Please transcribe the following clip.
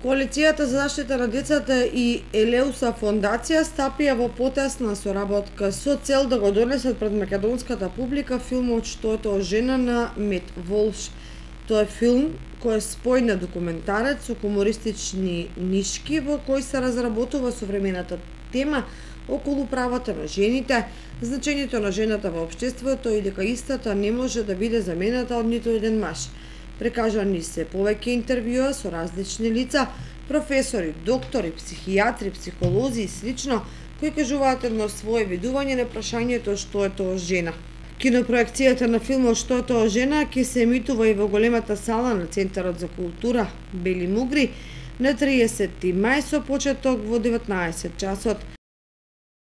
Коалицијата за заштита на децата и Елеуса фондација стапија во потесна соработка со цел да го донесат пред македонската публика филмот "Што е тоа жена" на Мет Волш. Тоа е филм кој е спојна документарец со хумористични нишки во кој се разработува современата тема околу правата на жените, значењето на жената во општеството и дека истата не може да биде замената од ниту еден маж. Прекажани се повеќе интервјуа со различни лица, професори, доктори, психијатри, психолози и слично, кои кажуваат едно свое видување на прашањето "Што е тоа жена?". Кинопроекцијата на филмот "Што е тоа жена" ќе се емитува и во големата сала на Центарот за култура Бели Мугри на 30 мај со почеток во 19 часот.